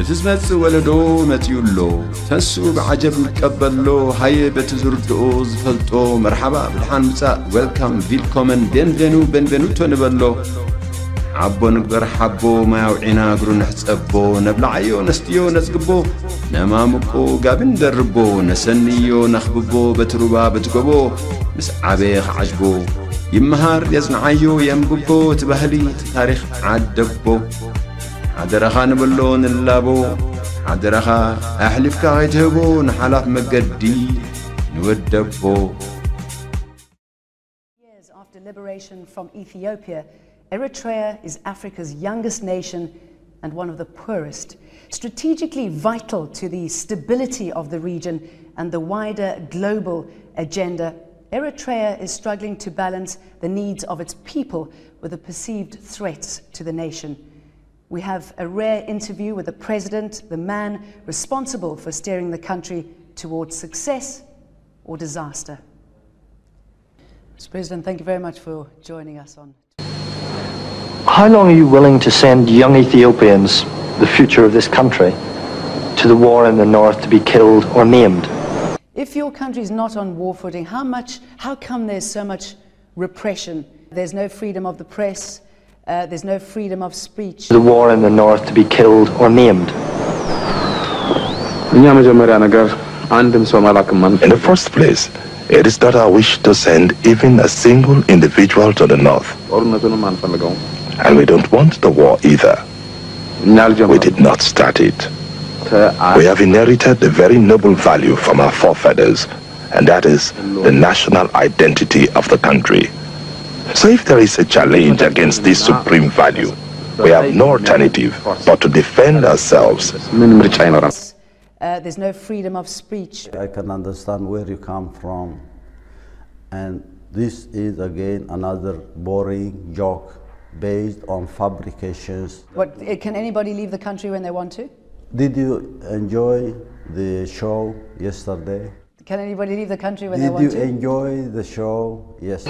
እቲ ዝመጽእ ወለዶ መጺኡ ኣሎ። ተንስኡ ብዓጀብ ንቀበሎ። ሃየ በቲ ዝርድኦ ዝፈልጦ መርሓባ ብድሓን ምጻእ፣ ዌልካም፣ ቪልኮመን፣ ቤንቬኑ፣ ቤንቬኑቶ ንበሎ። ዓቦ ንግበር ሓቦ፣ ማይ ኣውዒና እግሩ ንሕጸቦ። ነብልዓዮ ነስትዮ ነጽግቦ፣ ነማሙቆ ጋቢ ንደርቦ። ነሰንዮ ነኽብቦ በቲ ሩባ በቲ ጎቦ። ምስ ዓበየ ክዓጅቦ ይመሃር የጽንዓዮ የንብቦ። እቲ ባህሊ እቲ ታሪኽ ዓደቦ። ሓደራኻ ንበሎ ንላቦ። ሓደራኻ ኣሕሊፍካ ከይትህቦ ንሓላፍ መገዲ ንወደቦ። Years after liberation from Ethiopia, Eritrea is Africa's youngest nation and one of the poorest. Strategically vital to the stability of the region and the wider global agenda, Eritrea is struggling to balance the needs of its people with the perceived threats to the nation. We have a rare interview with the president, the man responsible for steering the country towards success or disaster. Mister President, thank you very much for joining us on. How long are you willing to send young Ethiopians, the future of this country, to the war in the north to be killed or maimed? If your country is not on war footing, how much, how come there's so much repression? There's no freedom of the press, uh, there's no freedom of speech. The war in the north to be killed or maimed. እኛ መጀመሪያ ነገር አንድም ሰው መላክም አንፈልግም። In the first place, it is not our wish to send even a single individual to the north, ጦርነቱንም አንፈልገውም። and we don't want the war either. እኛ We አልጀመርንም። did not start it. We have inherited a very noble value from our forefathers, and that is the national identity of the country. So if there is a challenge against this supreme value, we have no alternative but to defend ourselves. ምን ምርጫ ይኖራል? Uh, there's no freedom of speech. I can understand where you come from. And this is again another boring joke based on fabrications. What, uh, can anybody leave the country when they want to? Did you enjoy the show yesterday? Can anybody leave the country when they Did want you to? Enjoy the show? Yes.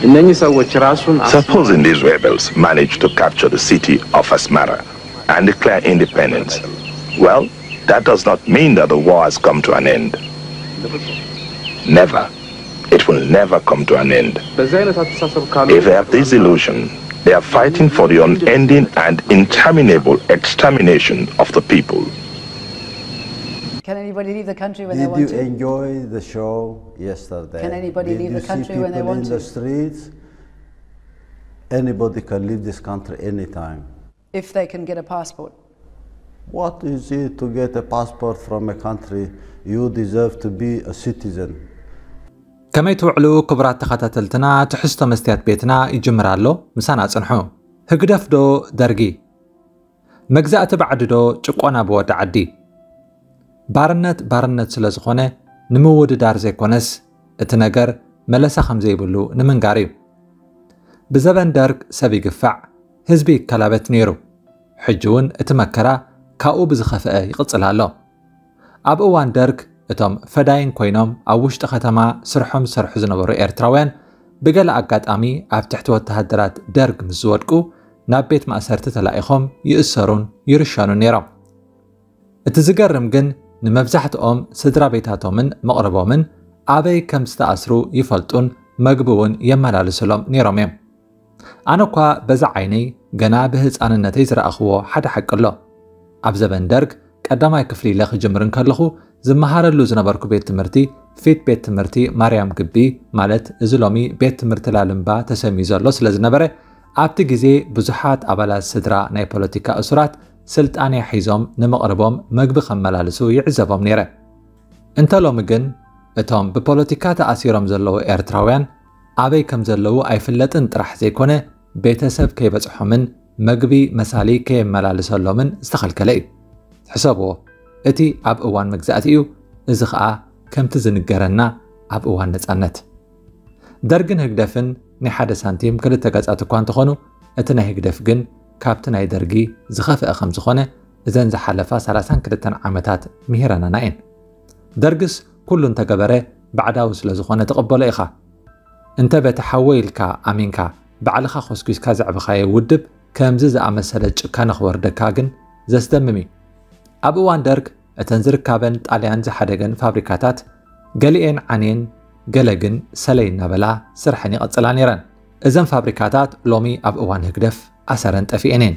እነኚህ ሰዎች ራሱን Supposing these rebels manage to capture the city of Asmara and declare independence, well, that does not mean that the war has come to an end. Never. It will never come to an end. በዚህ አይነት አስተሳሰብ ካሉ If they have this illusion, they are fighting for the unending and interminable extermination of the people. Can anybody leave the country when they Did want you to? Enjoy the show yesterday? Can anybody Did leave you the country see when they people want in the to? Streets? Anybody can leave this country anytime. If they can get a passport. What is it to get a passport from a country? You deserve to be a citizen. ከመይ ትውዕሉ ክቡራት ተኸታተልትና? ትሕዝቶ መስትያት ቤትና ይጅምር ኣሎ። ምሳና ጽንሑ። ህግደፍ ዶ ደርጊ? መግዛእቲ ባዕዲ ዶ ጭቆና ብወዲ ዓዲ? ባርነት ባርነት ስለ ዝኾነ ንምውድዳር ዘይኮነስ እቲ ነገር መለሳ ከም ዘይብሉ ንምንጋር እዩ። ብዘበን ደርግ ሰብ ይግፋዕ፣ ህዝቢ ይከላበት ነይሩ። ሕጂ እውን እቲ መከራ ካብኡ ብዝኸፍአ ይቕጽል ኣሎ። ኣብ እዋን ደርግ እቶም ፈዳይን ኮይኖም ኣብ ውሽጢ ከተማ ስርሖም ዝሰርሑ ዝነበሩ ኤርትራውያን ብገለ ኣጋጣሚ ኣብ ትሕቲ ወተሃደራት ደርግ ምስ ዝወድቁ ናብ ቤት ማእሰርቲ ተላኢኾም ይእሰሩን ይርሸኑን ነይሮም። እቲ ዝገርም ግን ንመብዛሕትኦም ስድራ ቤታቶምን መቕርቦምን ኣበይ ከም ዝተኣስሩ ይፈልጡን መግቢ እውን የመላልስሎም ነይሮም እዮም። ኣነ እኳ በዛ ዓይነይ ገና ብህፃንነተይ ዝረኣኽዎ ሓደ ሓቂ ኣሎ። ኣብ ዘበን ደርግ ቀዳማይ ክፍሊ ኢለ ክጅምር እንከለኹ ዝመሃረሉ ዝነበርኩ ቤት ትምህርቲ ፊት ቤት ትምህርቲ ማርያም ግቢ ማለት እዚ ሎሚ ቤት ትምህርቲ ላልምባ ተሰምዩ ዘሎ ስለ ዝነበረ ኣብቲ ግዜ ብዙሓት ኣባላት ስድራ ናይ ፖለቲካ እሱራት ስልጣንያ ሒዞም ንምቕርቦም መግቢ ከመላልሱ ይዕዘቦም ነይረ። እንተ ሎሚ ግን እቶም ብፖለቲካ ተኣሲሮም ዘለዉ ኤርትራውያን ኣበይ ከም ዘለዉ ኣይፍለጥን ጥራሕ ዘይኮነ ቤተሰብ ከይበጽሖምን መግቢ መሳሊ ከየመላልሰሎምን ዝተኸልከለ እዩ። ሕሰብዎ፣ እቲ ኣብ እዋን መግዛእቲ እዩ፣ እዚ ኸኣ ከምቲ ዝንገረና ኣብ እዋን ነጻነት። ደርግን ህግደፍን ናይ ሓደ ሳንቲም ክልተ ገጻት እኳ እንተኾኑ እቲ ናይ ህግደፍ ግን ካብቲ ናይ ደርጊ ዝኸፍአ ከም ዝኾነ እዘን ዝሓለፋ ሰላሳን ክልተን ዓመታት ምሂረናና እየን። ደርግስ ኩሉ እንተገበረ ባዕዳዊ ስለ ዝኾነ ትቕበሎ ኢኻ። እንተ በቲ ሓወይ ኢልካ ኣሚንካ ባዕልኻ ኮስኲስካ ዘዕበኻዮ ውድብ ከምዚ ዝኣመሰለ ጭካነ ክወርደካ ግን ዘስደምም እዩ። ኣብ እዋን ደርግ እተን ዝርካበን ጣልያን ዝሓደገን ፋብሪካታት ገሊኤን ዓንየን፣ ገለ ግን ሰለይ እናበላ ስርሐን ይቐጽላ ነይረን። እዘን ፋብሪካታት ሎሚ ኣብ እዋን ህግደፍ ኣሰረን ጠፊኤን እየን።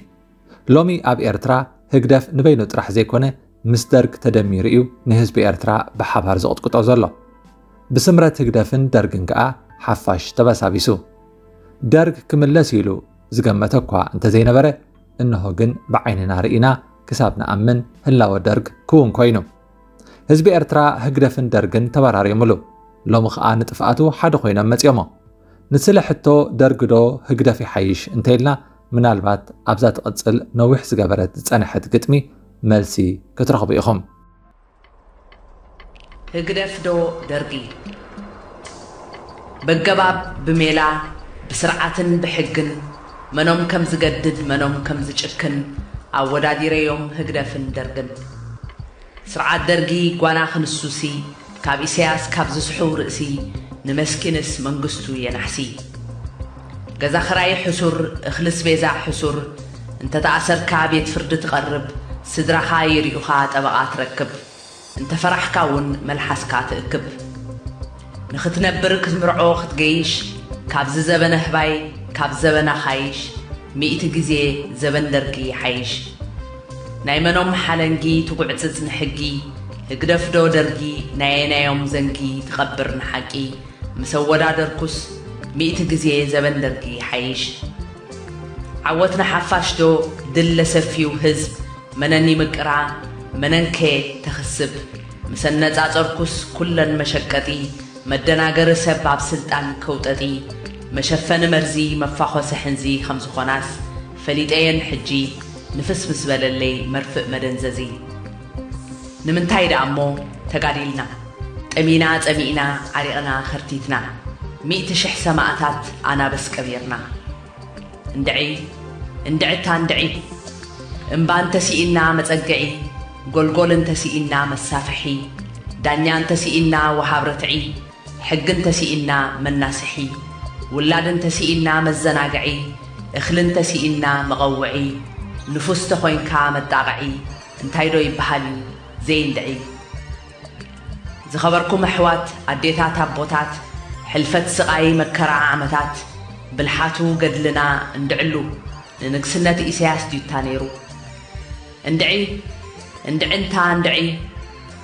ሎሚ ኣብ ኤርትራ ህግደፍ ንበይኑ ጥራሕ ዘይኮነ ምስ ደርግ ተደሚሩ እዩ ንህዝቢ ኤርትራ ብሓባር ዘቕጥቅጦ ዘሎ። ብስምረት ህግደፍን ደርግን ከኣ ሓፋሽ ተበሳቢሱ። ደርግ ክምለስ ኢሉ ዝገመተ እኳ እንተዘይነበረ፣ እንሆ ግን ብዓይንና ርኢና ክሳብ ንኣምን ህላወ ደርግ ክውን ኮይኑ። ህዝቢ ኤርትራ ህግደፍን ደርግን ተበራርዮምሉ። ሎሚ ኸኣ ንጥፍኣቱ ሓደ ኮይኖም መጺኦሞ። ንስለ ሕቶ ደርግዶ ህግደፍ ይሓይሽ እንተኢልና፣ ምናልባት ኣብዛ ትቕጽል ነዊሕ ዝገበረት ዝጸንሐት ግጥሚ መልሲ ክትረኽቡ ኢኹም። ህግደፍ ዶ ደርጊ? በገባብ ብሜላ ብስርዓትን ብሕግን መኖም ከም ዝገድድ መኖም ከም ዝጭክን ኣወዳዲረዮም ህግደፍን ደርግን። ስርዓት ደርጊ ጓና ክንሱሲ ካብ ኢሳያስ ካብ ዝስሑ ርእሲ ንመስኪንስ መንግስቱ የናሕሲ። ገዛ ኽራይ ሕሱር፣ እኽሊ ስቤዛ ሕሱር፣ እንተተኣሰርካ ቤት ፍርዲ ትቐርብ፣ ስድራኻ ይሪኡኻ ጠበቓ ትረክብ፣ እንተፈራሕካ እውን መልሓስካ ትእክብ። ንኽትነብር ክትምርዖ ክትገይሽ፣ ካብዚ ዘበነ ህባይ ካብ ዘበና ኻይሽ፣ ሚእቲ ግዜ ዘበን ደርጊ ይሓይሽ። ናይ መኖም ሓለንጊ ትጉዕጽጽ ንሕጊ፣ ህግደፍዶ ደርጊ ናየናዮም ዘንጊ ትቐብር ንሓቂ፣ ምስ ኣወዳደርኩስ ሚእቲ ግዜ ዘበን ደርጊ ይሓይሽ። ዓወት ንሓፋሽ ዶ ድል ለሰፊው ህዝብ መነን ይምቅራ መነንከ ተኽስብ፣ ምስ ኣነጻጸርኩስ ኩለን መሸቀጢ መደናገሪ ሰብ ኣብ ስልጣን ከውጠጢ መሸፈኒ መርዚ መፋኾሲ ሕንዚ ከም ዝኾናስ ፈሊጠየን ሕጂ ንፍስ ምስ በለለይ መርፍእ መደንዘዚ። ንምንታይ ደኣ እሞ ተጋዲልና ጠሚና ጸሚእና ዓሪቕና ኸርቲትና ሚእቲ ሽሕ ሰማእታት ኣናብስ ቀቢርና። እንድዒ እንድዕታ እንድዒ እምባ እንተስኢና መጸግዒ ጎልጎል እንተስኢና መሳፍሒ ዳኛ እንተስኢና ወሃብ ርትዒ ሕጊ እንተስኢና መናስሒ ውላድ እንተስኢና መዘናግዒ እኽሊ እንተስኢና መቐውዒ ንፉስ ተኾይንካ መጣቕዒ እንታይ ዶ ይበሃል እዩ ዘይንድዒ። ዝኸበርኩም ኣሕዋት ኣዴታት ኣቦታት ሕልፈት ስቓይ መከራ ዓመታት ብልሓቱ ገድልና እንድዕሉ ንንግስነት ኢሳያስ ድዩታ ነይሩ። እንድዒ እንድዕንታ እንድዒ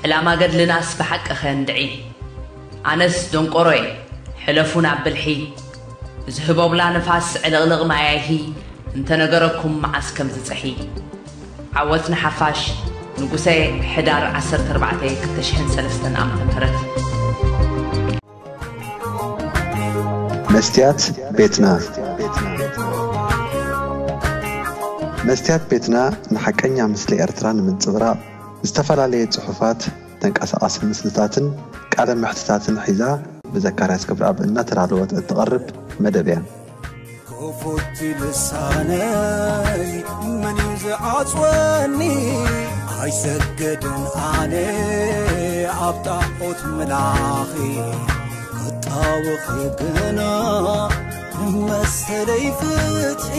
ዕላማ ገድልናስ ብሓቅኸ እንድዒ። ኣነስ ደንቆሮየ ሕለፉ ናብ ብልሒ ዝህቦብላ ንፋስ ዕልቕልቕ ማያይሂ እንተነገረኩም መዓስ ከም ዝጸሒ። ዓወት ንሓፋሽ ንጉሰ ሕዳር ዓሰርተ ኣርባዕተ ክልተ ሽሕን ሰለስተን ዓመተ ምህረት። መስትያት ቤትና መስትያት ቤትና ንሓቀኛ ምስሊ ኤርትራ ንምንጽብራቕ ዝተፈላለየ ጽሑፋት፣ ተንቀሳቓሲ ምስልታትን ቃለ መሕትታትን ሒዛ ብዘካርያስ ክብረኣብ እናተዳለወት እትቐርብ መደብ እያ። ክፉት ልሳነይ መን እዩ ዝዓጽወኒ? ኣይሰግድን ኣነ ኣብ ጣዖት ምላኺ ክጣወኺ ግና መሰለይ ፍትሒ።